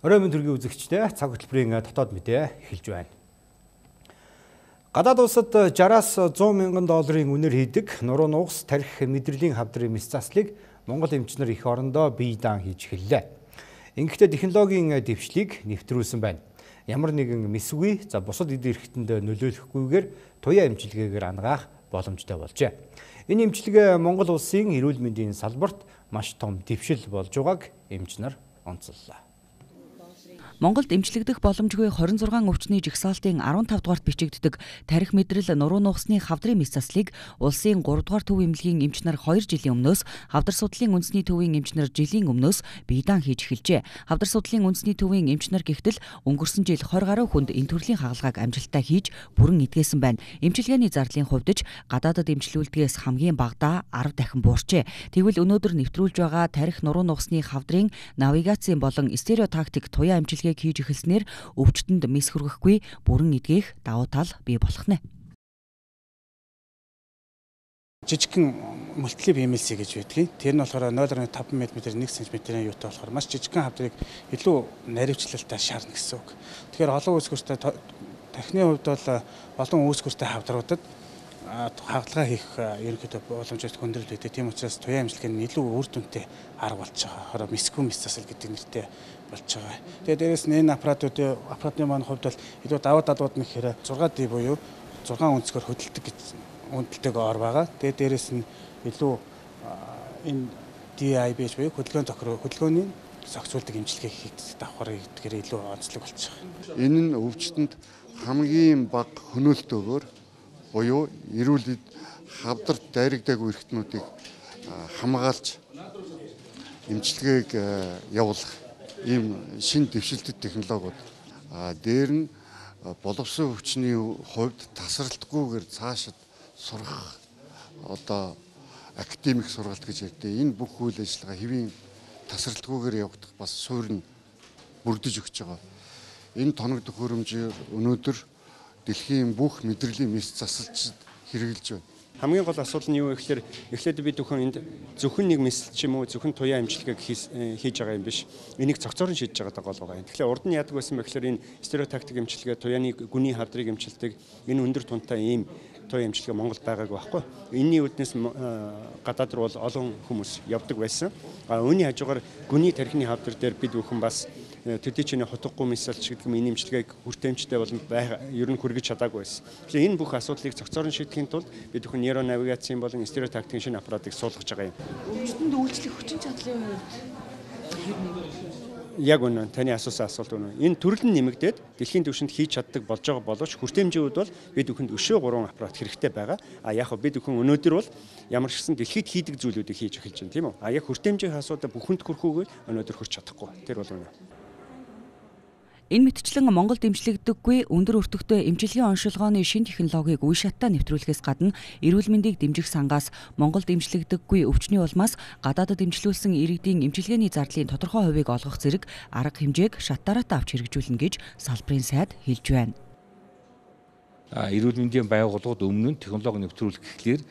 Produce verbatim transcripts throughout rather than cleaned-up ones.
Орой мэнд төргийн үзэгчдээ цаг хөтөлбөрийн дотоод мэдээ эхэлж байна. Гадаад улсад жараас зуун мянган долларын үнээр хийдэг нуруу нугас тарих мэдрэлийн хавдрын мэс заслыг Монгол эмчнэр их орондоо бие даан хийж эхэллээ. Ингэхдээ технологийн дэвшлиг нэвтрүүлсэн байна. Ямар нэгэн мэсгүй за бусад эд эрхтэнд нөлөөлөхгүйгээр туяа эмчилгээгээр ангаах боломжтой болжээ. Энэ эмчилгээ Монгол улсын эрүүл мэндийн салбарт маш том дэвшил болж байгааг эмчнэр онцоллоо. Монголд эмчлэгдэх боломжгүй хорин зургаан өвчний жигсаалтын арван тав дугаарт бичигддэг тарих мэдрэл нуруу нугасны хавдрын мэс заслыг улсын гурав дугаар төв эмнэлгийн эмч нар хоёр жилийн өмнөөс хавдар судлалын үндэсний төвийн эмч нар жилийн өмнөөс бие даан хийж эхэлжээ. Хавдар судлалын үндэсний төвийн эмч нар гихтэл өнгөрсөн жил двадцать гаруй хүнд энэ төрлийн хагалгааг амжилттай хийж бүрэн эдгээсэн байна. Эмчилгээний зардлын хувьд ч гадаадад эмчлүүлдгээс хамгийн багадаа арав дахин буурчээ. Тэгвэл өнөөдөр нэвтрүүлж байгаа тарих нуруу нугасны хавдрын навигацийн болон стереотактик туяа эмчилгээ хийж эхэлснээр өвчтөнд мэс хүргэхгүй бүрэн эдгэх давуу тал бий болох нэ. Жижигхэн мультиплип эм эл си гэж байдгийг. Тэр нь болохоор нуль дасмал пять мм нэг сантиметрийн юутай болохоор маш жижигхэн хавдрыг илүү наривчлалтай шаарна гэсэн үг. Тэгэхээр олон үүсгэртэй тархины хувьд бол олон үүсгэртэй хавдруудад хагалгаа хийх ерөнхийдөө боломжтой хөндрөл байдаг. Тийм учраас туяа эмчилгээ нь илүү үр дүнтэй арга болж байгаа. Хороо мэсгүй мэс засал гэдэг нэртэй болж байгаа. Тэгээд дээрэс нь энэ аппаратуудын аппаратны маань хувьд бол илүү даваа далууд нь гэхээр зураг ди буюу зургаан өнцгөр хөдөлдөг гэж үнэлтэйг ор байгаа. Тэгээд дээрэс нь илүү энэ ди ай би буюу хөдөлгөөн тохироо хөдөлгөөний зохицуулдаг эмчилгээ хийх давхар гэдгээр илүү онцлог болж байгаа. Энэ нь өвчтөнд хамгийн бага хөнөөлтөөгөөр буюу эрүүл хавдарт дайрагдаагүй эрхтнүүдийг хамгаалж эмчилгээг явуулах ийм шин дэвшилтэд технологиуд дээр нь боловсон өвчний хувьд тасралтгүйгээр цаашид сурах одоо академик сургалт гэж ярьдээ энэ бүх үйл ажиллагаа хэвийн тасралтгүйгээр явагдах бас суурь нь бүрдэж өгч байгаа. Энэ тоног төхөөрөмжөөр өнөөдөр дэлхийн бүх мэдрэлийн мэс засалчид хэрэгжилж байна. Хамгийн гол асуудал нь юу вэ гэхээр эхлээд бид бүхэн энд зөвхөн нэг мэс ч юм уу зөвхөн туяа эмчилгээг хийж байгаа юм биш. Энийг цогцоор нь шийдэж байгаа гол байгаа юм. Тэгэхээр урд нь яадаг байсан бэ гэхээр энэ стереотактик эмчилгээ туяаны гүний хавдрыг эмчилдэг энэ өндөр тунтай ийм туяа эмчилгээ Монголд байгаагүй байхгүй. Энийний үүднээс гадаад руу бол олон хүмүүс явдаг байсан. А үүний хажуугаар гүний тархины хавдар дээр бид бүхэн бас төдий чиний хотгогүй мэсэлч гэдэг юм энэ эмчилгээг хүртээмжтэй болон ер нь хүргэж чадаагүй байсан. Тэгэхээр энэ бүх асуудлыг цогцоор нь шийдэхийн тулд бид бүхэн нейро навигацийн болон стереотактикийн шинэ аппаратыг суулгаж байгаа юм. Өвчтөнд үйлчлэх хүчин чадлын Яг үнэ таны асуусан асуулт үнэ. Энэ төрөл нь нэмэгдээд дэлхийн түвшинд хийж чаддаг болж байгаа боловч хүртээмжийн үед бол бид бүхэнд өшөө гурван аппарат хэрэгтэй байгаа. А яг бид бүхэн өнөөдөр бол ямар ч гэсэн дэлхийд хийдэг зүйлүүдийг хийж эхэлж байна тийм үү? А яг хүртээмжийн асуудал бүхэнд хүрхүүгээр өнөөдөр хүрч чадахгүй. Тэр бол үнэ. Энэ мэтчлэн Монголд эмчлэгдэггүй өндөр өртөгтэй эмчилгээний оншилгооны шин технологиг үе шаттай нэвтрүүлэхээс гадна эрүүл мэндийг дэмжих сангаас Монголд эмчлэгдэггүй өвчний улмаас гадаадад эмчлүүлсэн иргэдийн эмчилгээний зардлын тодорхой хувийг олгох зэрэг арга хэмжээг шаттараатай авч хэрэгжүүлнэ гэж салбарын сайд хэлж байна. Эрүүл мэндийн байгууллагууд өмнө нь технологи нэвтрүүлэх гэхлээр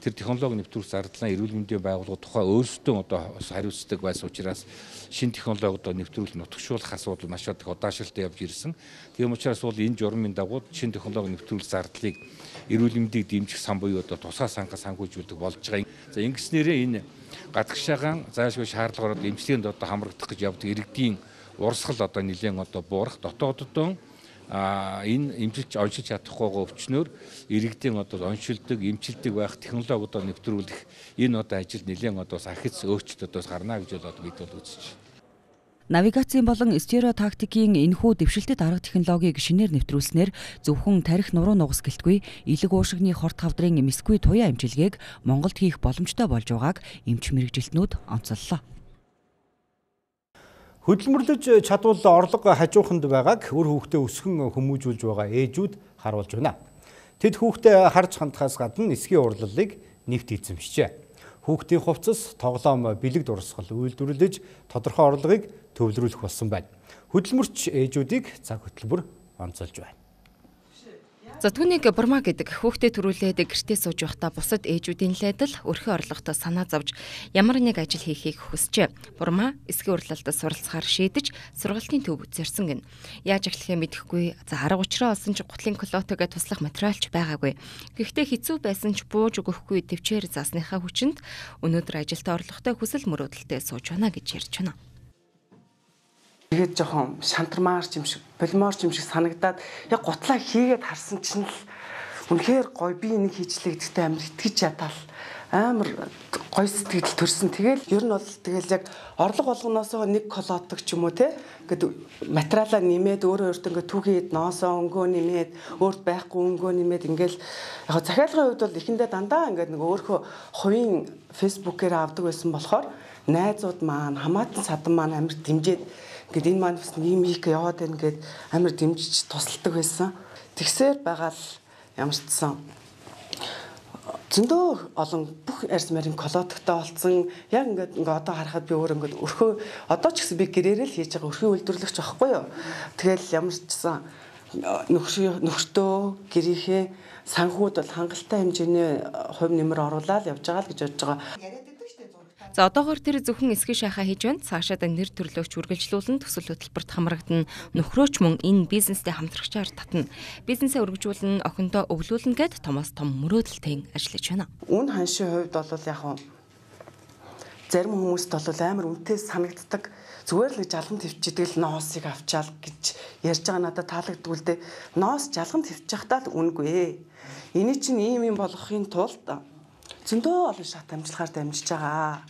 тэр технологи нэвтрүүлэх зардлаа эрүүл мэндийн байгууллагууд тухай өөрсдөө одоо хариуцдаг байсан учраас шинэ технологиудаа нэвтрүүлэх нутагшуулах асуудал маш их удаашралтай явж ирсэн. Тийм учраас бол энэ журмын дагуу шинэ технологи нэвтрүүлэх зардлыг эрүүл мэндийг дэмжих сан буюу одоо тусгай санхаа санхүүжүүлдэг болж байгаа. За ингэснээрээ энэ гадагшаагаан заашгүй шаардлагаар эмчилгээнд одоо хамрагдах гэж явдаг иргэдийн урсгал одоо нэлээд одоо буурах дотооддоо А энэ эмчилж оншилж чадахгүй өвчнөр иргэдийн одоо оншилдог, эмчилдэг байх технологиудаа нэвтрүүлэх энэ одоо ажил нэлээд одоо сахиц өөрчлөлт одоо гарна гэж одоо бид бол үзэж байна. Навигацийн болон стереотактикийн энэхүү дэвшилтэд арга технологиг шинээр нэвтрүүлснээр зөвхөн тарих нуруу нугас гэлтгүй элэг уушигны хорт хавдрын мэсгүй туяа эмчилгээг Монголд хийх боломжтой болж байгааг эмч мэргэжилтнүүд онцоллоо. Хөдөлмөрлөж чадвал орлого хажууханд байгааг үр хүүхдээ өсгөн хүмүүжүүлж байгаа ээжүүд харуулж байна. Тэд хүүхдээ харж хандхаас гадна эсгийн урлалыг нэвт эзэмшжээ. Хүүхдийн хувцас, тоглоом, бэлэг дурсгал үйлдвэрлэж тодорхой орлогыг төвлөрүүлэх болсон байна. Хөдөлмөрч ээжүүдийг цаг хөтөлбөр онцолж байна. За түүнийг бурмаа гэдэг хүүхдээ төрүүлээд гэртээ сууж байхдаа бусад ээжүүдийн лайдал өрхөө орлоготой санаа зовж ямар нэг ажил хийхийг хүсжээ. Бурмаа эсгийн урлалдад суралцахаар шийдэж сургалтын төв зорьсон гин. Яаж эхлэхээ мэдэхгүй. За арга учраа олсон ч гутлын колотогээ туслах материалч байгаагүй. Гэхдээ хэцүү байсан ч бууж өгөхгүй төвчээр заасныхаа хүчинд өнөөдөр ажилтаа орлоготой хүсэл мөрөөдөлтэй сууж байна гэж ярьж байна. Тэгээд жоохон шантармаар юм шиг, полимор юм шиг санагдаад яг гутлаа хийгээд харсан чинь л үнэхээр гоё би энийг хийчлээ гэдэгтээ амар итгэж ядаал амар гоё сэтгэл төрсөн. Тэгэл ер нь бол тэгэл яг орлого болгоноос нэг колотог ч юм уу те ингээд материалаа нэмээд өөрөө өөртөө ингээд түүхийд ноосоо өнгөө нэмээд өөрт байхгүй өнгөө нэмээд ингээд яг захиалгын хувьд бол эхэндээ дандаа ингээд нэг өөрхөө хувийн фэйсбүүкээр авдаг байсан болохоор найзууд маань хамаатан садан маань амар дэмжиж ингээд энэ маань бас ийм их яваад байна гэд амар дэмжиж тусалдаг байсан. Тэгсээр байгаа л ямар ч гэсэн зөндөө олон бүх арьс марийн колотогтой болсон. Яг ингээд ингээ одоо харахад би өөр ингээд өрхөө одоо ч гэсэн би гэрээрээ л хийж байгаа өрхийн үйлдвэрлэгч байхгүй юу. Тэгэл ямар ч гэсэн нөхөр нөхөртөө гэрийнхээ санхүүд бол хангалттай хэмжээний хувь нэмэр оруулаад явж байгаа л гэж бодож байгаа. За одоогоор тэр зөвхөн эсгийн шахаа хийж байна. Цаашаад нэр төрлөөгч үргэлжлүүлэн төсөл хөтөлбөрт хамрагдана. Нөхрөөч мөн энэ бизнестэй хамтрагчаар татна. Бизнесээ өргөжүүлэн охиндоо өвлүүлнэ гэд томоос том мөрөөдөлтэй ажиллаж байна. Үн ханшийн хувьд бол яг нь зарим хүмүүст бол амар үнэтэй санагддаг. Зүгээр л гэж жалган твчидэг л ноосыг авчаал гэж ярьж байгаа надад таалагддаг л дээ. Ноос жалган твчихтаа л үнэгүй. Эний чинь ийм юм болохын тулд зөндөө олон шат амжилахаар дамжиж байгаа.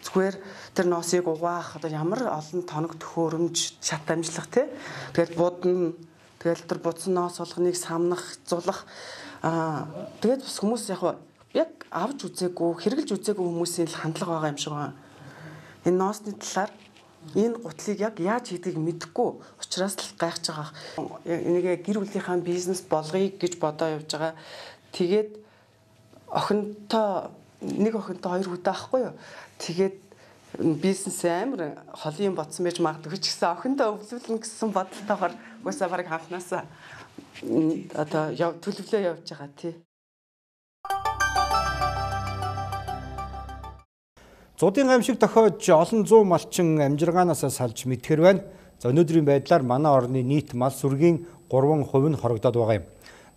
Зүгээр тэр ноосыг угаах одоо ямар олон тоног төхөөрөмж шат амжлах тий. Тэгэл будна. Тэгэл тэр будсан ноос болгоныг самнах, зулах. Аа тэгээд бас хүмүүс яг яг авч үзээгүй, хэрэгжилж үзээгүй хүмүүсийн л хандлага байгаа юм шиг байна. Энэ ноосны талаар энэ гутлыг яг яаж хийдгийг мэдэхгүй учраас л гайхаж байгаа. Энийг гэр бүлийнхаа бизнес болгоё гэж бодоо явж байгаа. Тэгээд охинтой нэг охинтой хоёр хүүтэй байхгүй юу? Тэгээд бизнес амар холын бодсон байж магадгүй ч гэсэн охиндоо өвлүүлнэ гэсэн бодолтойгоор уусаа барыг ханхнаасаа одоо төлөвлөө явж байгаа тий. Зуудын гамшиг тохиож олон зуун малчин амжиргаанаас салж мэдхэр байна. За өнөөдрийн байдлаар манай орны нийт мал сүргийн гурван хувь нь хорогдоод байгаа юм.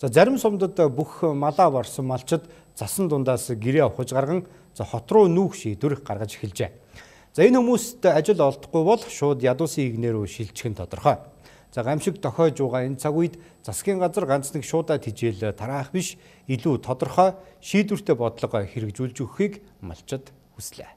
За зарим сумдад бүх малаа барсан малчид засан дундаас гэрээ авахж гарган за хот руу нүүх шийдвэр гаргаж эхэлжээ. За энэ хүмүүст ажил олдохгүй бол шууд ядуусын игнэр рүү шилжих нь тодорхой. За гамшиг тохиож байгаа энэ цаг үед засгийн газар ганц нэг шуудаа тижэл тараах биш илүү тодорхой шийдвэртэй бодлого хэрэгжүүлж өгөхийг малчид хүслээ.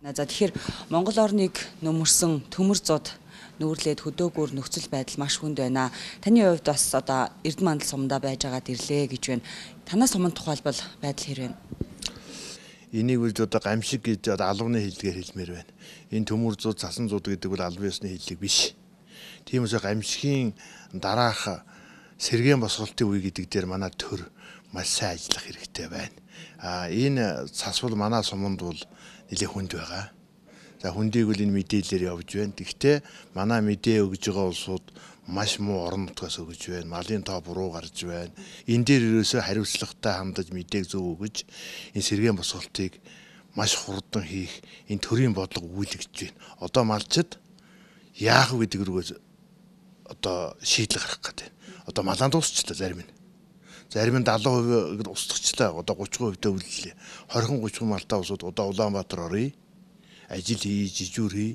За тэгэхээр Монгол орныг нөмөрсөн төмөр зууд нүүрлээд хөдөөгөр нөхцөл байдал маш хүнд байна. Таны хувьд бас одоо Эрдэнэ мандал сумдаа байж байгаад ирлээ гэж байна. Танаас сумын тухайлбал байдал хэр вэ? Энийг үл одоо гамшиг гэж одоо албаны хэллэгээр хэлмээр байна. Энэ төмөр зууд, цасан зууд гэдэг бол албан ёсны хэллэг биш. Тийм учраас гамшигын дараах сэргээн босголтын үе гэдэг дээр манай төр маш сайн ажиллах хэрэгтэй байна. А энэ цасвал манай суманд бол нэлээд хүнд байгаа. За хүндийг бол энэ мэдээлэлээр явж байна. Гэхдээ манай мэдээ өгж байгаа улсууд маш муу орон нутгаас өгж байна. Малын тоо буруу гарч байна. Энэ дээр ерөөсөө хариуцлагатай хандаж мэдээг зөв өгж энэ сэргээн босголтыг маш хурдан хийх энэ төрийн бодлого үйлэгдэж байна. Одоо малчид яах вэ гэдэг рүүгээ одоо шийдэл гаргах гэдэг. Одоо малаа дуусчлаа зарим нь. Зарим нь далайн хувь устгацлаа. Одоо гучин хувь төвлөлээ. хорин гучин малтаа усууд одоо Улаанбаатар оръё. Ажил хий, жижүүр хий,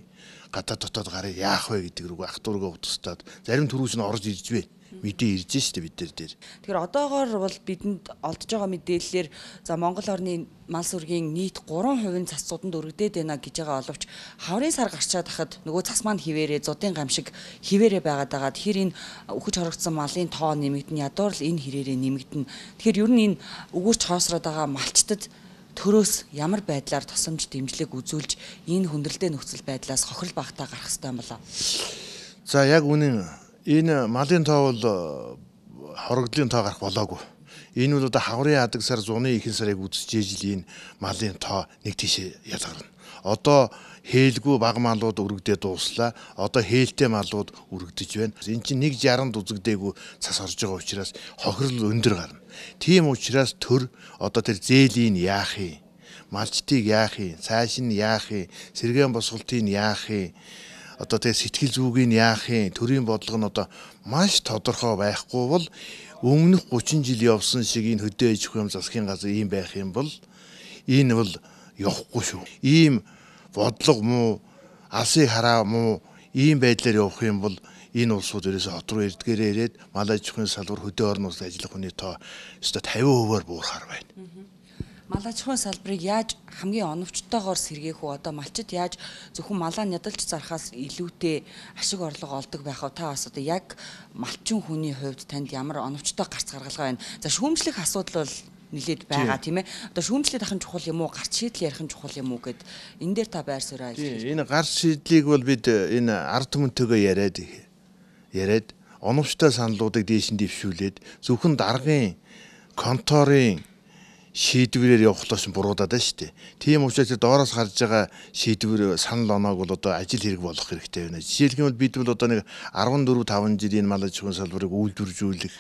гадаад дотоод гарыг яах вэ гэдэг рүү ах дургаа утгастаад зарим төрүүс нь орж ирж байна. Мэдээ ирж штэ бид нар дээр. Тэгэхээр одоогоор бол бидэнд олдж байгаа мэдээллээр за Монгол орны мал сүргийн нийт гурван хувийн цасцууданд өргөдөөд байна гэж байгаа боловч хаврын сар гарчаад хахад нөгөө цас маань хിവэрээ зудын гамшиг хിവэрээ байгаад байгаа. Тэгэхээр энэ өгөж хорогдсон малын тоо нэмэгдэн ядуур л энэ хэрээрээ нэмэгдэн. Тэгэхээр ер нь энэ өгөөж хоосроод байгаа малчтад төрөөс ямар байдлаар тусамж дэмжлэг үзүүлж энэ хүндрэлтэй нөхцөл байдлаас хохирол багтаа гарах хэрэгтэй юм болоо. За яг үнэн энэ малын тоо бол хорогдлын тоо гарах болоогүй. Энэ бол одоо хаврын адаг сар зуны ихэнх сарыг үзэж ижил энэ малын тоо нэг тийшээ ялгарна. Одоо хээлгүй бага малууд өргөдөө дууслаа. Одоо хээлтэй малууд өргөдөж байна. Энэ чинь нэг жаранд үзэгдээгүй цас орж байгаа учраас хохирол өндөр гарна. Тийм учраас төр одоо тэр зээлийн яах юм? Малчтыг яах юм? Цааш нь яах юм? Сэргээн босголтыг яах юм? Одоо тэр сэтгэл зүйг нь яах юм? Төрийн бодлого нь одоо маш тодорхой байхгүй бол өмнөх гучин жил явсан шиг энэ хөдөө аж ахуйн засгийн газар ийм байх юм бол энэ бол явахгүй шүү. Ийм бодлого муу, алсыг хараа муу ийм байдлаар явах юм бол энэ улсууд ерөөсө хот руу эрдгээрээ ирээд мал аж ахуйн салбар хөдөө орон улс ажиллах хүний тоо өстой тавин хувиар буурахаар байна. Мал аж ахуйн салбарыг яаж хамгийн оновчтойгоор сэргээх үү? Одоо малчид яаж зөвхөн малаа нядалж зарахаас илүүтэй ашиг орлого олдог байх вэ? Та бас одоо яг малчин хүний хувьд танд ямар оновчтой гарц гаргалгаа байна? За шүүмжлэх асуудал бол нилээд байгаа тийм ээ. Одоо шүүмжлээд ахын чухал юм уу? Гарц шийдэл ярих нь чухал юм уу гэд энэ дээр та байр суурь ажиллаж. Энэ гарц шийдлийг бол бид энэ ард түмэнтэйгээ яриад яриад оновчтой саналуудыг дээш нь дэвшүүлээд зөвхөн даргын конторын шийдвэрээр явахлаас буруудаад байна шүү дээ. Тийм учраас доороос гарч байгаа шийдвэр санал оноог бол одоо ажил хэрэг болох хэрэгтэй байна. Жишээлх юм бол бид бол одоо нэг арван дөрөв таван жил энэ мал аж ахуйн салбарыг үйлдвэржүүлэх,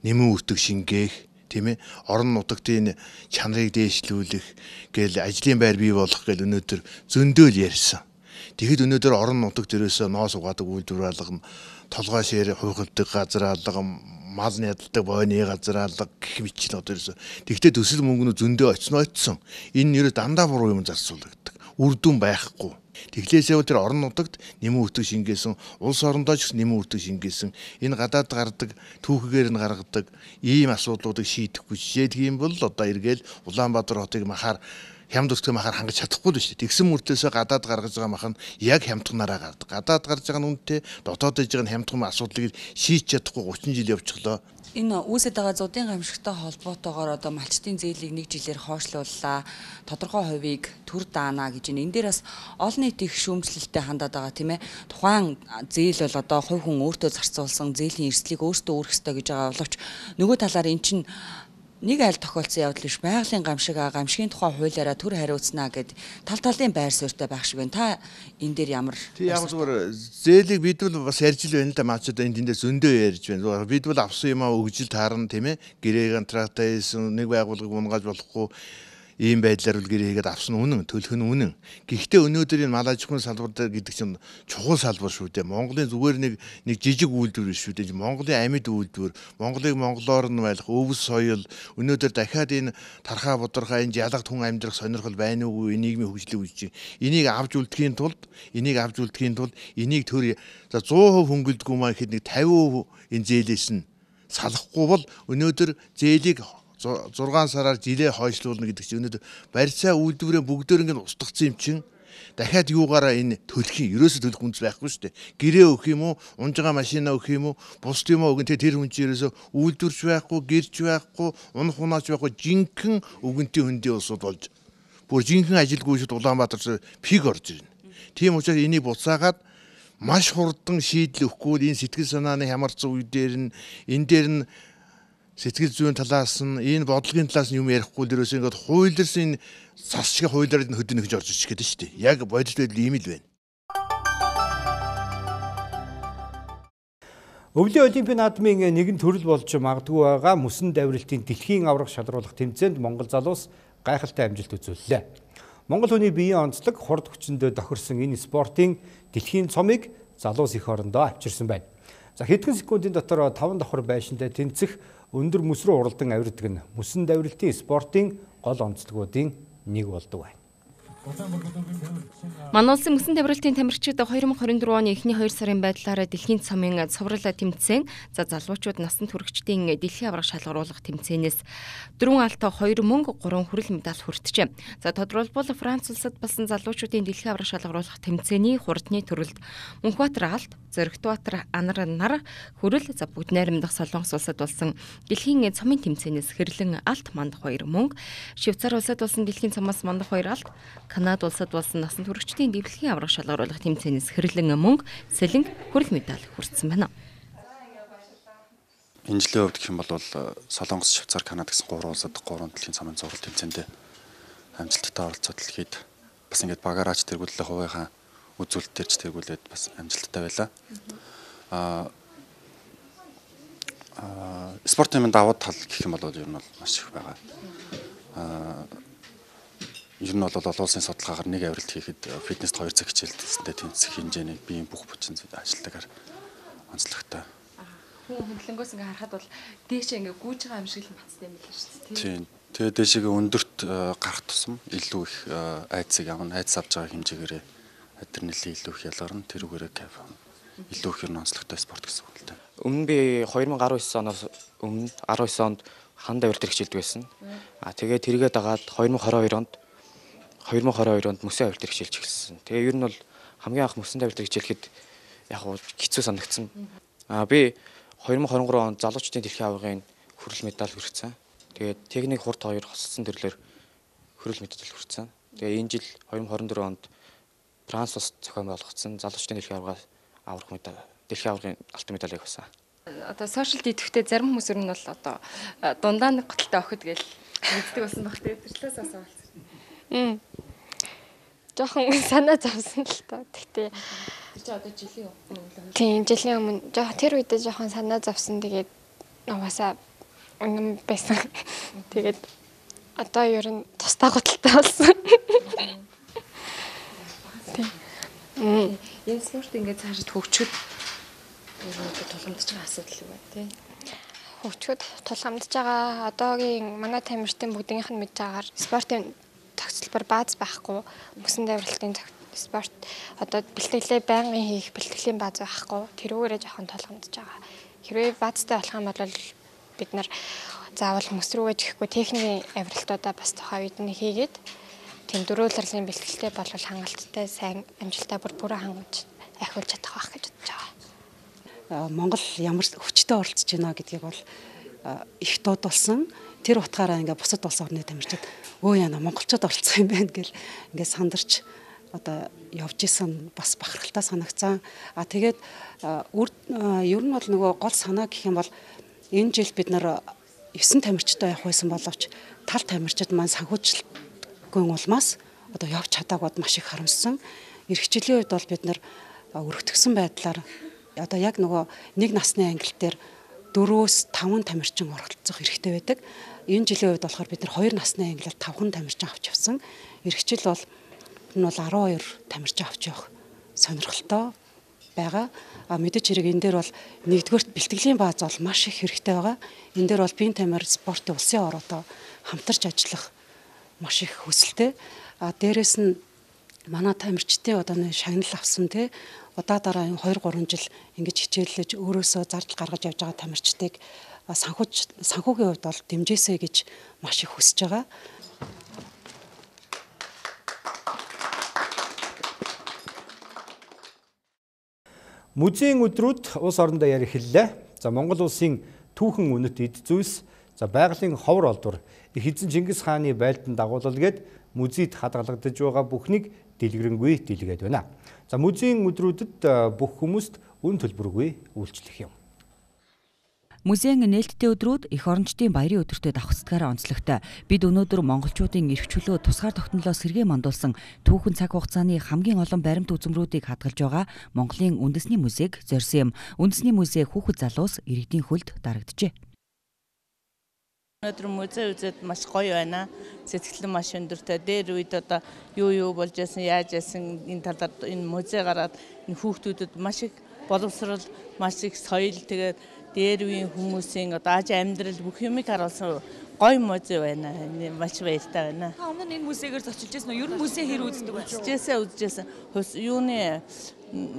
нэмэн үртэг шингээх, тийм ээ, орон нутагтын чанарыг дээшлүүлэх гээл ажлын байр бий болох гээл өнөөдөр зөндөөл ярьсан. Тэгэхэд өнөөдөр орон нутагт ерөөсөө ноос угаадаг үйлдвэр алга, толгой шир хуйхалдаг газар алга, мал ядалдаг бойны газар алга гэх мэт л одоо ерөөсөө. Тэгвэл төсөл мөнгө нь зөндөө очсон очсон. Энэ нэрээ дандаа буруу юм зарцуулдаг. Үр дүн байхгүй. Тэглээсээ бол тэр орон нутагт нэмэн үртэг шингээсэн, улс орондоо ч нэмэн үртэг шингээсэн, энэ гадаад гардаг түүхэгээр нь гаргадаг ийм асуудлуудыг шийдэхгүй жишээлх юм бол одоо эргээл Улаанбаатар хотыг махаар хямд өсгөх махаар хангаж чадахгүй л шүү дээ. Тэгсэн мөртөөсөө гадаад гаргаж байгаа мах нь яг хямдхнараа гардаг. Гадаад гарч байгаа нь үнэтэй, дотоод иж байгаа нь хямдхан асуудлыг шийдэж чадахгүй гучин жил явчихлоо. Энэ үүсэж байгаа зуудын гамшигтай холбоотойгоор одоо малчтын зээлийг нэг жилээр хойшлууллаа. Тодорхой хувийг төр даана гэж энэ. Энэ дээр бас олон нийт их шүүмжлэлтэй хандаад байгаа тийм ээ. Тухайн зээл бол одоо хувь хүн өөртөө зарцуулсан зээлийн эрсдлийг өөртөө өөрөх ёстой гэж байгаа боловч нөгөө талаар эн чинь нэг айл тохиолдсон явдал биш. Байгалийн гамшиг аа гамшигын тухай хуулиараа төр хариуцнаа гэд тал талын байр суурьтай байх шиг байна. Та энэ дээр ямар тий яг зүгээр зээлийг бид бол бас ярьж л байна л да маачдаа энэ тэндээ зөндөө ярьж байна. Бид бол авсан юм аа өгжил таарна тийм ээ. Гэрээ контрактаа хийсэн нэг байгууллага унгааж болохгүй ийм байдлаар бол гэрээ хийгээд авсан үнэн, төлөх нь үнэн. Гэхдээ өнөөдөр энэ мал аж ахуйн салбар гэдэг чинь чухал салбар шүү дээ. Монголын зүгээр нэг нэг жижиг үйлдвэр биш шүү дээ. Монголын амьд үйлдвэр, Монголыг монголоор нь байлах өвс соёл, өнөөдөр дахиад энэ тархаа бодорхоо энэ ялагт хүн амьдрах сонирхол байна уугүй нийгмийн хөгжлийг үүсэж. Энийг авч үлдэхийн тулд, энийг авч үлдэхийн тулд энийг төр за сто хувь хөнгөлдгөө маа гэхэд нэг тавин хувь энэ зээлээс нь салахгүй бол өнөөдөр зээлийг зургаан сараар жилээ хойшлуулна гэдэг чинь өнөөдөр барьцаа үйлдвэрээ бүгдээр ингэ устгацсан юм чинь дахиад юугаараа энэ төлөх юм ерөөсө төлөх үндэс байхгүй шүү дээ. Гэрээ өгөх юм уу, унж байгаа машина өгөх юм уу, бус юм уу өгөн тэр хүн чинь ерөөсө үйлдвэрч байхгүй, гэрч байхгүй, унах унаач байхгүй жинхэнэ өгөнтийн хөндийн улсууд болж бүр жинхэнэ ажилгүй шүүд Улаанбаатар пиг орж ирнэ. Тийм учраас энийг буцаагаад маш хурдан шийдэл өгөхгүй энэ сэтгэл санааны хямарсан үе дээр нь энэ дээр нь сэтгэл зүйн талаас нь энэ бодлогын талаас нь юм ярихгүй л ерөөсөө ингээд хуулирсан цас шиг хуулиараа хөдөө нэгж орж ич гэдэг шүү дээ. Яг бодит байдал ийм л байна. Өвлийн олимпийн наадмын нэгэн төрөл болж магадгүй байгаа мөсөн давиралтын дэлхийн аврах шалруулах тэмцээнд Монгол залуус гайхалтай амжилт үзүүллээ. Монгол хүний биеийн онцлог хурд хүчиндээ тохирсон энэ спортын дэлхийн цомыг залуус их орондоо авчирсан байна. За хэдхэн секундын дотор таван давхар байшинтай тэнцэх өндөр мөс рүү уралдан авирдаг нь мөсөн давиралтын спортын гол онцлогуудын нэг болдог байна. Манай улсын мөсөн давиралтын тамирчид две тысячи двадцать четыре оны эхний хоёр сарын байдлаараа дэлхийн цомын цуврал тэмцээн за залуучууд насан туршидын дэлхийн аврах шалгаруулах тэмцээнээс дөрвөн алт хоёр мөнгө гурван хүрэл медаль хүртжээ. За тодорхойлбол Франц улсад болсон залуучуудын дэлхийн аврах шалгаруулах тэмцээний хурдны төрөлд Мөнхбаатар алт, Зоригтбаатар анар нар хүрэл за бүгд найрамдах Солонгос улсад болсон дэлхийн цомын тэмцээнээс хэрлэн алт мандах хоёр мөнгө, Швейцар улсад болсон дэлхийн цомоос мандах хоёр алт, Канада улсад болсон насан туршидын дэлхийн аврах шалгаруулах тэмцээнээс хэрлэн мөнгө, сэлэнг, хүрэл медаль хүртсэн байна. Энэ жилийн хувьд гэх юм бол Солонгос, Швейцар, Канада гэсэн гурван улсад гурван дэлхийн цомын зурвал тэмцээнд амжилттай оролцоод дэлхийд бас ингээд багаараач тэргүүлээ хувийнхаа үзүүлэлт төрж тэргүүлээд бас амжилттай байлаа. Аа аа спортын давуу тал гэх юм бол ер нь бол маш их байгаа. Аа ер нь бол олон улсын судалгаагаар нэг авиралт хийхэд фитнест хоёр цаг хичээлтэй тэнцэх хэмжээний биеийн бүх хүчин ажилтгаар онцлогтой. Хүн хөндлөнгөөс ингээ харахад бол дээшээ ингээ гүйж байгаа юм шиг л бацтай юм байна шүү дээ. Тийм. Тэгээ дээшээгээ өндөрт гарах тусам илүү их айцыг авна, айц авч байгаа хэмжээгээр адреналин илүү их ялгарна, тэрүүгээрээ кайф авна. Илүү их онцлогтой спорт гэсэн үг л дээ. Өмнө би two thousand nineteen оноос өмнө nineteen онд ханд авиралт хэрэгжилдэг байсан. А тэгээ тэргээд дагаад twenty twenty-two онд twenty twenty-two онд мөсөн авиралт хэрэгжилж эхэлсэн. Тэгээ ер нь бол хамгийн анх мөсөн авиралт хэрэгжүүлэхэд яг хэцүү санагдсан. А би twenty twenty-three онд залуучдын дэлхийн аваргын хүрэл медаль хүргэсэн. Тэгээд техник хурд хоёр хосолсон төрлөөр хүрэл медаль хүргэсэн. Тэгээ энэ жил twenty twenty-four онд Франц ус зохион болгоцсон залуучдын дэлхийн аваргаас аврах медаль, дэлхийн аваргын алтан медалийг авсан. Одоо сошиал идэвхтэй зарим хүмүүс ер нь бол одоо дундаа нэг готалтай охид гэж мэддэг болсон баг тэгээд тэрчлээс асуусан. Мм. Жохон санаа зовсон л та. Тэгтээ тэр чи одоо жилийн өмнө. Тийм, жилийн өмнө. Жоо тэр үедээ жохон санаа зовсон. Тэгээд угаасаа үнэн байсан. Тэгээд одоо ер нь тусдаа готалтай болсон. Мм. Энэ спорт ингээд цаашид хөгжөхөд ер нь тулгамдж байгаа асуудал юу вэ, тий? Хөгжөхөд тулгамдж байгаа одоогийн манай тамирчдын бүгдийнх нь мэдж байгаагаар спортын тогтцолбор бааз байхгүй, мөсөн давиралтын спорт одоо бэлтгэлээ байнгын хийх бэлтгэлийн бааз байхгүй. Тэрүүгээрээ жоохон тулгамдж байгаа. Хэрвээ баазтай болох юм бол бид нар заавал мөс рүүгээ жихгүй техникийн авиралтуудаа бас тухайн үед нь хийгээд тийм дөрвөлрлийн бэлтгэлтэй болвол хангалттай сайн амжилттай бүр бүрээ хангаж ахиулж чадах байх гэж бодож байгаа. Монгол ямар хүчтэй оролцож байна гэдгийг бол их дуудулсан. Тэр утгаараа ингээ бусад улс орны тамирчид өө яна монголчууд оролцох юм байна гэл ингээ сандарч одоо явж исэн бас бахархалтай санагцсан. А тэгээд ер нь бол нөгөө гол санаа гэх юм бол энэ жил бид нар нine тамирчтай явах байсан боловч тал тамирчид маань санхүүжилтгүй улмаас одоо явж чадаагууд маш их харамссан. Ирэх жилийн үед бол бид нар өргөтгсөн байдлаар одоо яг нөгөө нэг насны ангил дээр four-five тамирчин оролцох хэрэгтэй байдаг. Энэ жилийн үед болохоор бид нар two насны ангилал five тамирчин авч явсан. Ирэх жил бол энэ бол twelve тамирчин авч явах сонирхолтой байгаа. А мэдээж хэрэг энэ дээр бол нэгдүгээрт бэлтгэлийн бааз бол маш их хэрэгтэй байгаа. Энэ дээр бол биеийн тамир спортын улсын ороотой хамтарч ажиллах маш их хүсэлтэй. А дээрэс нь манай тамирчдын одоо нэг шагнал авсан те удаа дараа two three жил ингэж хичээллэж өөрөөсөө зардал гаргаж явж байгаа тамирчдыг санхүүж санхүүгийн хувьд бол дэмжээсэй гэж маш их хүсэж байгаа. Музейн өдрүүд улс орондоо ярих хэллээ. За Монгол улсын түүхэн үнэт эд зүйлс, за байгалийн ховор олдвор, их эзэн Чингис хааны байлдан дагуулал гээд музейд хадгалагдаж байгаа бүхнийг дэлгэрэнгүй дэлгээд байна. За музейн өдрүүдэд бүх хүмүүст үн төлбөргүй үйлчлэх юм. Музейн нээлттэй өдрүүд эх орончдын баярын өдөртөө давхцдгаараа онцлогтой. Бид өнөөдөр монголчуудын эрх чөлөө тусгаар тогтнолоо сэргээ мандуулсан түүхэн цаг хугацааны хамгийн олон баримт үзмрүүдийг хадгалж байгаа Монголын үндэсний музейг зорьсон юм. Үндэсний музей хүүхэд залуус иргэдийн хөлд дарагджээ. Өнөөдөр музей үзээд маш гоё байна. Сэтгэл нь маш өндөртэй. Дээр үед одоо юу юу болж яасан, яаж яасан энэ талаар энэ музей гараад энэ хүүхдүүдэд маш их боловсрал, маш их соёл тэгээд дээр үеийн хүмүүсийн одоо аж амьдрал бүх юмыг харуулсан гоё музей байна. Маш баяртай байна. Та өмнө энэ музейгээр зочилж байсан уу? Ер нь музей хэр үздэг вэ? Үзчихсэн, үзчихсэн. Юуны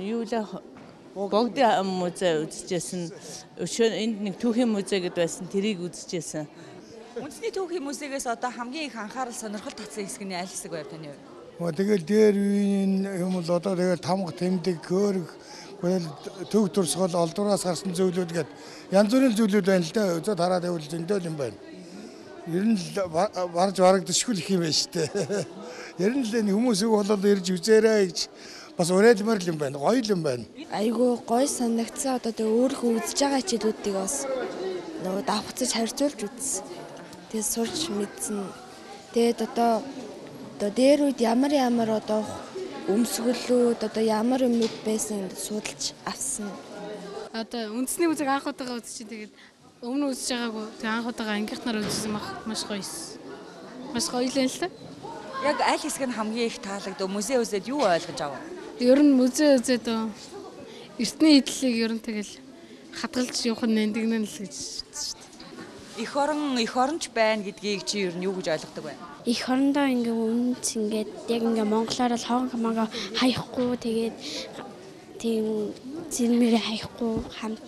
юу л богдын музей үзчихсэн. Энд нэг түүхийн музей гэдээ байсан. Тэрийг үзчихсэн. Үндэсний түүхийн музейгээс одоо хамгийн их анхаарал сонирхол татсан хэсэг нь аль хэсэг байв таны хувьд? Тэгэл дээр үеийн юм бол одоо тэгэл тамга тэмдэг хөөрг төв төрсгөл олдвораас гарсан зүйлүүд гээд янз бүрийн зүйлүүд байна л да. Үзээд хараад байвал зөндөл юм байна. Ер нь барж барагдчихгүй их юм байна шүү дээ. Ер нь л энэ хүмүүс үг болоод ирж үзээрэй гэж бас уриалмаар юм байна. Гоё юм байна. Айгуу гоё санагдсан. Одоо тэгээ өөрөө үзэж байгаа хичээлүүдийг бас нөгөө давхцаж харьцуулж үзсэн. Тэгээ сурч мэдсэн. Тэгээд одоо одоо дээр үед ямар ямар одоо өмсгөлүүд одоо ямар юмуд байсан судалж авсан. Одоо үндэсний үзэг анх удаага үзчихсэн. Тэгээд өмнө үзэж байгаагүй. Тэгээд анх удаага ангийнхнаар үзсэн маш гоё эс. Маш гоё л л та. Яг аль хэсэг нь хамгийн их таалагдав? Музей үзээд юу ойлгож авав? Ер нь музей үзээд эртний эдлийг ер нь тэгэл хадгалж явах нь нэндгнэн л гэж шүү дээ. Эх орон эх оронч байна гэдгийг чи ер нь юу гэж ойлгодог вэ? Эх орондоо ингээ үнц ингээд яг ингээ монголоор л хоон хамаагаа хаяхгүй тэгээд тийм зэмэрэ хаяхгүй хамт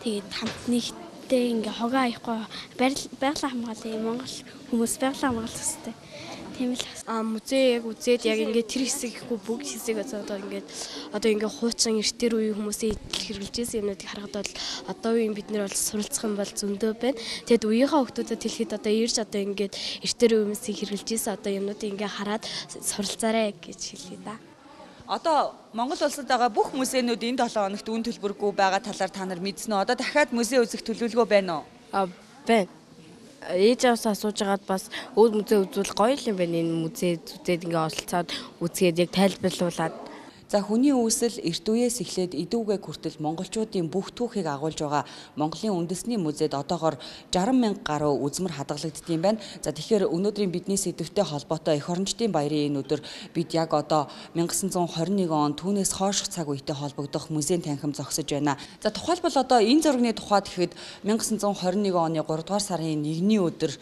тэгээд хамт нэгтэй ингээ хогоо хаяхгүй байгалаа хамгаалсан монгол хүмүүс байгалаа хамгаалах хэрэгтэй. Тийм л а музей яг үзээд яг ингээ тэр хэсэг ихгүй бүгд хэсэг одоо ингээд одоо ингээ хуучин эртээр үеийн хүмүүсийн хэрэгжилжсэн юмнуудыг харахад бол одоо үеийн бид нар бол суралцах юм бол зөндөө байна. Тэгэд үеийнхээ хүмүүсд хэлэхэд одоо ирж одоо ингээд эртээр үеийн хүмүүсийн хэрэгжилжсэн одоо юмнуудыг ингээ хараад суралцаарай гэж хэлье да. Одоо Монгол улсад байгаа бүх музейнууд энэ долоо хоногт үн төлбөргүй байгаа талаар та нар мэдсэн үү? Одоо дахиад музей үзэх төлөвлөгөө байна уу? А байна. Ээж аваасаа асууж агаад бас өөр музей үзүүл гоё юм байна. Энэ музей зүтээд ингээ оролцоод үзгээд яг тайлбарлуулад. За хүний үүсэл эрт үеэс эхлээд идүүгээ хүртэл монголчуудын бүх түүхийг агуулж байгаа Монголын үндэсний музейд одоогоор жарган мянга гаруй үзмэр хадгалагддсан байна. За тэгэхээр өнөөдрийн бидний сэдвтэй холбоотой эх орончдын баярын энэ өдөр бид яг одоо 천ix twenty one он түүнээс хойших цаг үетэй холбогдох музейн танхим зогсож байна. За тухайлбал одоо энэ зургийн тухайд гэхэд 천ix twenty one оны three дугаар сарын нэгний өдөр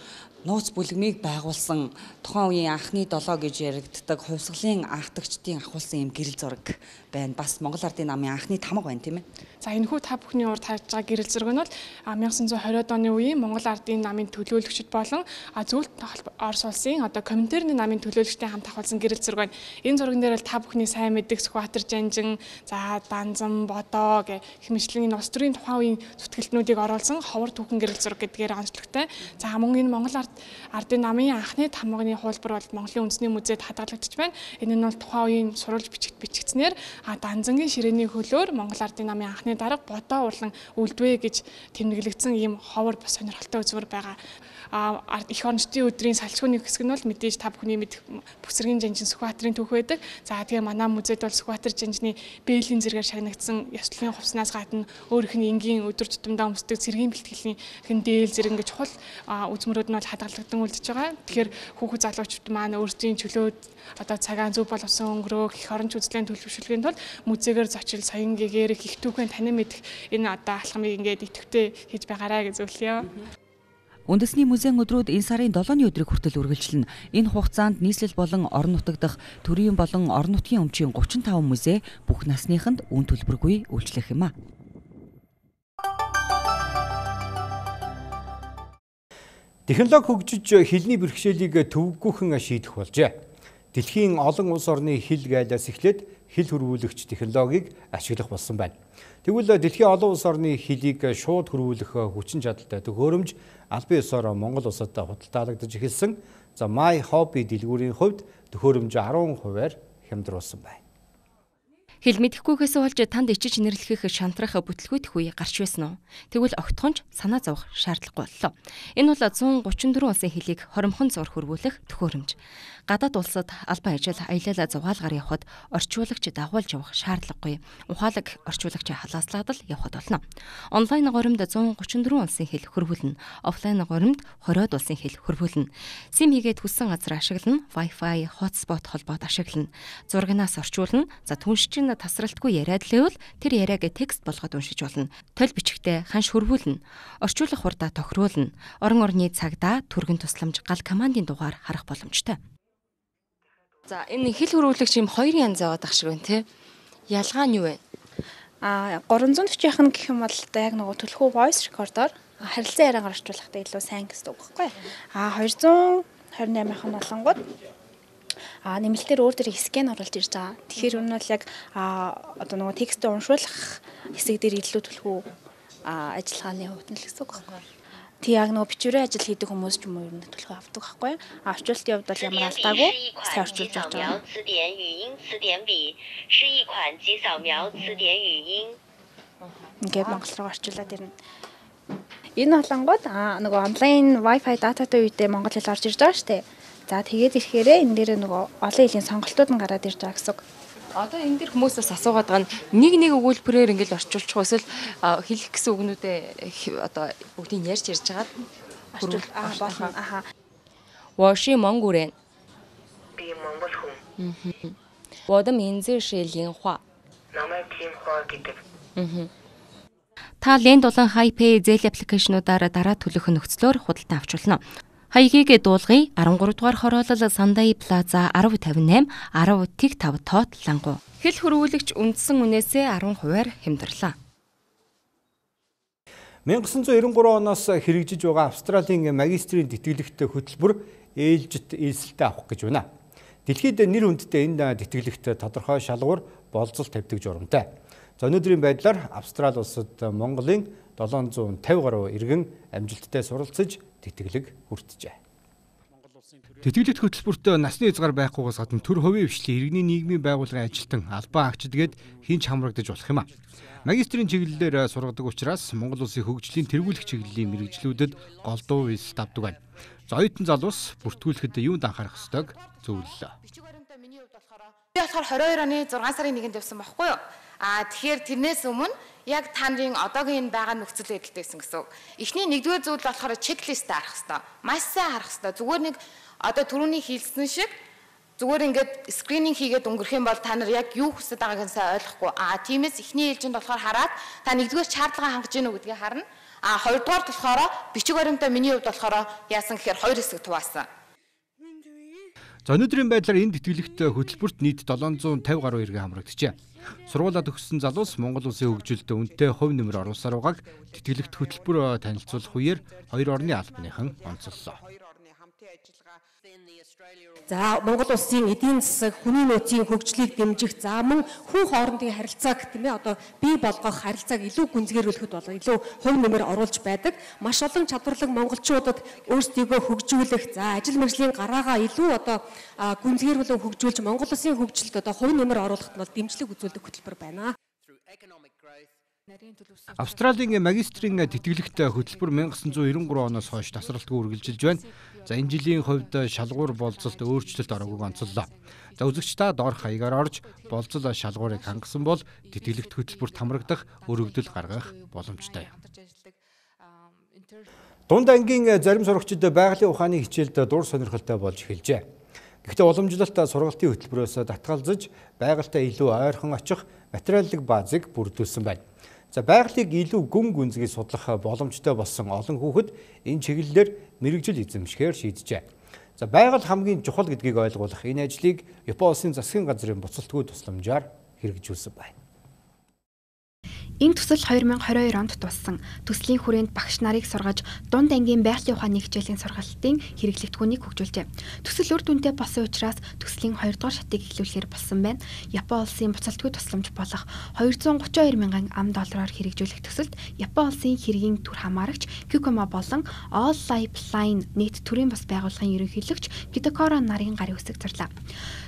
нууц бүлгмийг байгуулсан тухайн үеийн анхны долоо гэж яригддаг хувьсгалын анхдагчдын ахуулсан юм гэрэл зураг байна. Бас Монгол Ардын намын анхны тамга байна тийм ээ. За энэхүү та бүхний урд харж байгаа гэрэл зураг нь бол nineteen twenty оны үеийн Монгол Ардын намын төлөөлөгчд болон зөвлөлт Орос улсын одоо Коминтерны намын төлөөлөгчдийн хамт ахуулсан гэрэл зураг байна. Энэ зурган дээр бол та бүхний сайн мэддэг Сүхбаатар Жанжин, за Данзан, Бодоо гэх хэмжлэн энэ улс төрийн тухайн үеийн зүтгэлтнүүдийг оруулсан ховор түүхэн гэрэл зураг гэдгээр онцлогтой. За мөн энэ Монгол Ард Ардын намын анхны тамганы хуулбар бол Монголын үндэсний музейд хадгалагдчих байна. Энэ нь бол тухайн үеийн сурвалж бичигт бичигдснээр Данзангийн ширээний хөлөөр Монгол Ардын намын анхны дарга Бодоо урлан үлдвэ гэж тэмдэглэгдсэн ийм ховор бас сонирхолтой үзмэр байгаа. А эх орончдын өдрийн салчгууны хэсэг нь бол мэдээж та бүхний мэд Бүсэргийн Жанжин Сүхбаатарын түүх байдаг. За тэгээ манай музейд бол Сүхбаатар Жанжины бээлийн зэрэгээр шагнагдсан ёслолын хувцснаас гадна өөрийнх нь энгийн өдөр тутамдаа өмсдөг цэргийн бэлтгэлийн хэн дээл зэрэг гэж чухал үзмөрүүд нь бол хадгалагдсан үлдэж байгаа. Тэгэхээр хүүхэд залуучууд маань өөрсдийн чөлөөд одоо цагаан зөв боловсон өнгөрөөх эх оронч үзлийн төлөвшөлтийн тулд музейгээр зочил соён гээгээрх их түүхэн танин мэдэх энэ одоо алхмыг ингээд идэвхтэй хийж байгаарай гэж зөвлөё. Үндэсний музейн өдрүүд энэ сарын долооны өдрийг хүртэл үргэлжилнэ. Энэ хугацаанд нийслэл болон орон нутаг дахь төрийн болон орон нутгийн өмчийн thirty-five музей бүх насныханд үн төлбөргүй үйлчлэх юм а. Технологи хөгжиж хэлний бэрхшээлийг төвөггүйхэн шийдэх болжээ. Дэлхийн олон улс орны хэл гайлаас эхлээд хэл хөрвүүлэгч технологиг ашиглах болсон байна. Тэгвэл дэлхийн олон улс орны хэлийг шууд хөрвүүлэх хүчин чадалтай төхөөрөмж албан ёсоор Монгол улсад худалдаалагдаж эхэлсэн. За My Hobby дэлгүүрийн хувьд төхөөрөмж ten хувиар хямдруулсан байна. Хэл мэдэхгүйгээс болж танд ичиж нэрлэхэх шантрах бүтлгүйт үе гарч байсан уу? Тэгвэл огтхонч санаа зовох шаардлагагүй боллоо. Энэ бол one thirty-four улсын хэлийг хоримхон зур хөрвүүлэх төхөөрөмж. Гадаад улсад албан ажил аялал зугаалгаар явхад орчуулагч дагуулж явах шаардлагагүй. Ухаалаг орчуулагч халааслагад л явхад болно. Онлайн горимд one thirty-four улсын хэл хөрвүүлнэ. Офлайн горимд twenty улсын хэл хөрвүүлнэ. Сим хийгээд хүссэн газар ашиглана. Wi-Fi, hotspot холбоод ашиглана. Зурагнаас орчуулна. За түншчин тасралтгүй яриад л байвал тэр яриаг текст болгоод уншиж болно. Толь бичгтээ ханш хөрвүүлнэ. Орчуулах хурдаа тохируулна. Орон орны цагдаа, түргэн тусламж, гал командын дугаар харах боломжтой. За энэ хэл хөрвүүлэгч юм хоёр янз яваад ах шиг байна тий. Ялгаа нь юу вэ? А three forty-ийнх нь гэх юм бол одоо яг нөгөө төлхөө voice recorder харилцан яриагаар орчуулахдаа илүү сайн гэсэн үг байхгүй. А two twenty-eight-ийнх нь болонгууд а нэмэлтээр өөр дээр скэн оруулж ирж байгаа. Тэгэхээр энэ бол яг одоо нөгөө текстээ уншуулах хэсэг дээр илүү төлхөө ажиллагааны хувьд нь л гэсэн үг байна. Тэг яг нөгөө бичвэрийн ажил хийдэг хүмүүс ч юм уу ер нь төлхөө авдаг байхгүй. А орчуулалтын хувьд бол ямар алдаагүй сайн орчуулж авч байгаа. Ингээд монгол руу орчуулад ирнэ. Энэ болонгууд а нөгөө онлайн Wi-Fi дататай үедээ монгол хэл орж ирж байгаа шүү дээ. За тэгээд ирэхээрээ энэ дээр нөгөө олон илийн сонголтууд нь гараад ирж байгаа гэсэн үг. Одоо энэ дэр хүмүүсээс асуугаад байгаа нь нэг нэг өгүүлбэрээр ингээд орчуулчих эсвэл хэлэх гэсэн үгнүүдээ одоо бүгдийг ярьж ярьж байгаа. Аа болно. Аха. 我是蒙古人。 Би монгол хүн. 我的名字是林化。 Намайг Тимхуа гэдэг. Та Лен дулаан Хайпэй зээл аппликейшнуудаар дараа төлөх нөхцлөөр худалдан авч болно. Хаягийг дуулгын арван гурав дугаар хороолол Сандай Плаза ten fifty-eight ten тэг five тоот лангу. Хэл хөрвүүлэгч үндсэн үнээсээ ten хувиар хямдрлаа. nineteen ninety-three оноос хэрэгжиж байгаа Австралийн магистрийн тэтгэлэгт хөтөлбөр ээлжит ээлсэлтэй авах гэж байна. Дэлхийд нэр хүндтэй энэ тэтгэлэгт тодорхой шалгуур болцол тавьдаг журамтай. За өнөөдрийн байдлаар Австрали улсад Монголын seven hundred fifty гаруй иргэн амжилттай суралцж тэтгэлэг хүртжээ. Тэтгэлэгт хөтөлбөрт насны хязгаар байхгүйгээс гадна төр хувийн хвшлийн иргэний нийгмийн байгууллагын ажилтан албан агчдгээд хинч хамрагдаж болох юм а. Магистрийн чиглэлээр сургадаг учраас Монгол улсын хөгжлийн тэргүүлэх чиглэлийн мэргэжлүүдэд голдуу визит авдаг байна. За оюутан залуус бүртгүүлэхэд юунд анхаарах ёстойг зөвлөлөө. Би болохоор twenty-two оны six сарын нэгнд явсан байхгүй юу? Аа тэгэхээр тэрнээс өмнө яг та нарын одоогийн байгаа нөхцөл байдалтэйсэн гэсэн. Эхний нэгдүгээр зүйл болохоор чеклист харах хэрэгтэй. Маш сайн харах хэрэгтэй. Зүгээр нэг одоо түрүүний хэлсэн шиг зүгээр ингээд скрининг хийгээд өнгөрөх юм бол та нар яг юу хүсэж байгааг нь сайн ойлгохгүй. Аа тиймээс эхний ээлжинд болохоор хараад та нэгдүгээр шаардлага хангаж гинэ гэдгийг харна. Аа хоёрдугаар болохоор бичиг баримтаа миний хувьд болохоор яасан гэхээр хоёр хэсэг туваасан. За өнөөдрийн байдлаар энэ тэтгэлэгт хөтөлбөрт нийт seven hundred fifty гаруй иргэн хамрагджээ. Сургуулаа төгссөн залуус Монгол улсын хөгжилд үнэтэй хувь нэмэр оруулсаар байгааг тэтгэлэгт хөтөлбөр танилцуулах үеэр хоёр орны албаныхан онцоллоо. За Монгол улсын эдийн засаг, хүний нөөцийн хөгжлийг дэмжих, за мөн хүн хоорондын харилцааг тийм ээ одоо бий болгох харилцааг илүү гүнзгийрүүлэхэд бол илүү хувь нэмэр оруулж байдаг. Маш олон чадварлаг монголчуудад өөрсдийгөө хөгжүүлэх, за ажил мэргэжлийн гараагаа илүү одоо гүнзгийрүүлэн хөгжүүлж Монгол улсын хөгжилд одоо хувь нэмэр оруулахад бол дэмжлэг үзүүлдэг хөтөлбөр байна. Австралийн магистрийн тэтгэлэгт хөтөлбөр nineteen ninety-three оноос хойш тасралтгүй үргэлжилж байна. За энэ жилийн хувьд шалгуур болцолд өөрчлөлт ороогүй онцоллоо. За үзэгч та доорх хаягаар орж болцол шалгуурыг хангасан бол тэтгэлэгт хөтөлбөрт хамрагдах өргөдөл гаргах боломжтой. Дунд ангийн зарим сурагчид байгалийн ухааны хичээлд дур сонирхолтой болж эхэлжээ. Гэхдээ уламжлалт сургалтын хөтөлбөрөөс татгалзаж байгальтай илүү ойрхон очих материаллык баазыг бүрдүүлсэн байна. За байгалыг илүү гүн гүнзгий судлах боломжтой болсон олон хүүхэд энэ чиглэлээр мэрэгжил эзэмшихээр шийджээ. За байгаль хамгийн чухал гэдгийг ойлгуулах энэ ажлыг Японы улсын засгийн газрын буцалтгүй тусламжаар хэрэгжүүлсэн байна. Энэ төсөл twenty twenty-two онд туссан төслийн хүрээнд багш нарыг сургаж дунд ангийн байгалийн ухааны хичээлийн сургалтын хэрэглэгдэхүүнийг хөгжүүлжээ. Төсөл үр дүнтэй болсон учраас төслийн two дугаар шатыг эхлүүлэхээр болсон байна. Японы улсын буцалтгүй тусламж болох two hundred thirty-two мянган ам доллараар хэрэгжүүлэх төсөлд Японы улсын хэргийн түр хамаарагч Kikoma болон All Lifeline нийт төрийн бас байгууллагын ерөнхийлөгч Kitakora нарын гарын үсэг зарлаа.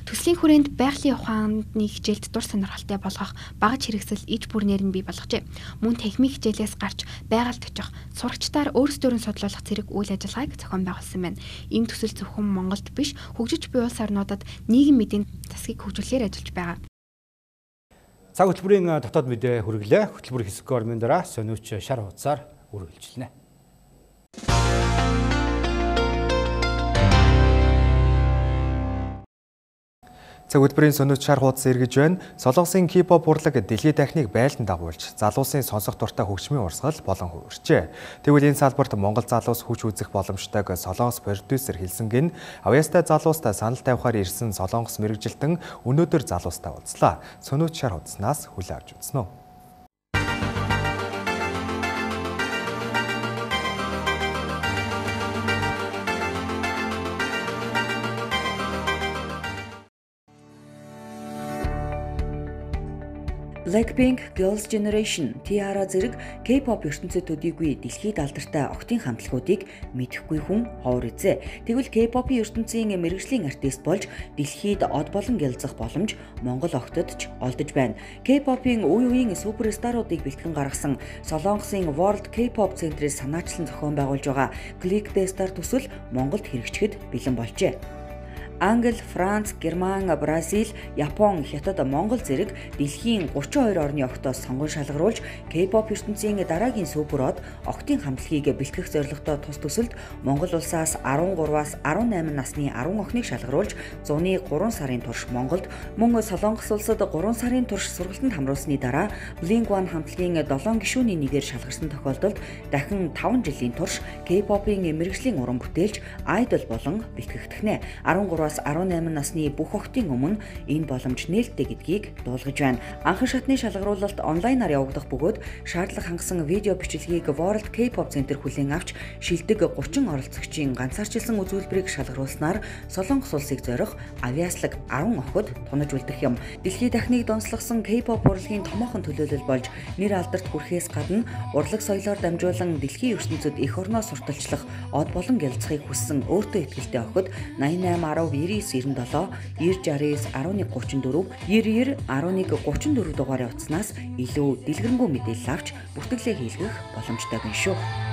Төслийн хүрээнд байгалийн ухааны хичээлд дур сонирхолтой болгох багаж хэрэгсэл иж бүрнээр нь бий болгожээ. Мөн техник хичээлээс гарч байгальд очих, сурагчдаар өөрсдөө нь судлуулах зэрэг үйл ажиллагааг зохион байгуулсан байна. Энэ төсөл зөвхөн Монголд биш, хөгжиж буй улс орнуудад нийгэм мэдийн засгийг хөгжүүлэхээр ажиллаж байгаа. Цаг хөтөлбөрийн дотоод мэдээ хүргэлээ. Хөтөлбөр хэсэг гормын дараа сониуч шар хуудасаар үргэлжилнэ. Цаг хөтөлбөрийн сониуч шар хуудас эргэж байна. Солонгосын K-pop урлаг дэлхийд дахныг байлдан дагуулж, залуусын сонсох дуртай хөгжмийн урсгал болон хувирчээ. Тэгвэл энэ салбарт Монгол залуус хүч үзэх боломжтойг Солонгос продюсер хэлсэнг нь авьяастай залуустай санал тавихаар ирсэн Солонгос мэргэжилтэн өнөөдөр залуустай уулзлаа. Сониуч шар худаснаас хүлээн авч үзнэ үү? Blackpink, Girls' Generation, T-ara зэрэг K-pop ертөнцид төдийгүй дэлхийд алдартай октын хамтлагуудыг мэдэхгүй хүн ховор эзээ. Тэгвэл K-pop-ийн ертөнцийн мэргэжлийн артист болж дэлхийд од болон гялзах боломж Монгол октод ч олдож байна. K-pop-ийн үе үеийн суперстаруудыг бэлтгэн гаргасан Солонгосын World K-pop Центрээс санаачлан зохион байгуулж байгаа Click the Star төсөл Монголд хэрэгжихэд бэлэн болжээ. Англи, Франц, Герман, Бразил, Япон, Хятад, Монгол зэрэг дэлхийн гурван хоёр орны огтоос сонгон шалгаруулж K-pop ертөнцийн дараагийн супер од октын хамтлагийг бэлтгэх зорилготой тус төсөлд Монгол улсаас арван гураваас арван найман насны арван охиныг шалгаруулж зуны гурван сарын турш Монголд, мөн Солонгос улсад гурван сарын турш сургалтанд хамруулсны дараа Blink One хамтлагийн долоон гишүүний нэгээр шалгарсан тохиолдолд дахин таван жилийн турш K-pop-ийн мэргэжлийн уран бүтээлч Idol болон бэлтгэгдэх. арван гураваас арван найман насны бүх охтын өмнө энэ боломж нээлттэй гэдгийг дуулгаж байна. Анхан шатны шалгаруулалт онлайнаар явагдах бөгөөд шаардлага хангасан видео бичлэгийг World K-pop Center хүлээн авч шилдэг гурван оролцогчийн ганцаарчилсан үзүүлбэрийг шалгаруулснаар Солонгос улсыг зорих авиаслаг арван охид тунаж үлдэх юм. Дэлхийд дахныг донслогсон K-pop урлагийн томоохон төлөөлөл болж нэр алдарт хүрэхээс гадна урлаг соёлоор дамжуулан дэлхийн ертөнцид эх орноо сурталчлах од болон гялцахыг хүссэн өөртөө итгэлтэй охид найман найман арав девяносто девять девяносто шесть арван нэг гуравчин дөрөв девяносто девять арван нэг гуравчин дөрөв дугаарыг утаснаас илүү дэлгэрэнгүй мэдээлэл авч бүртгэлээ хийлгэх боломжтой байна шүү.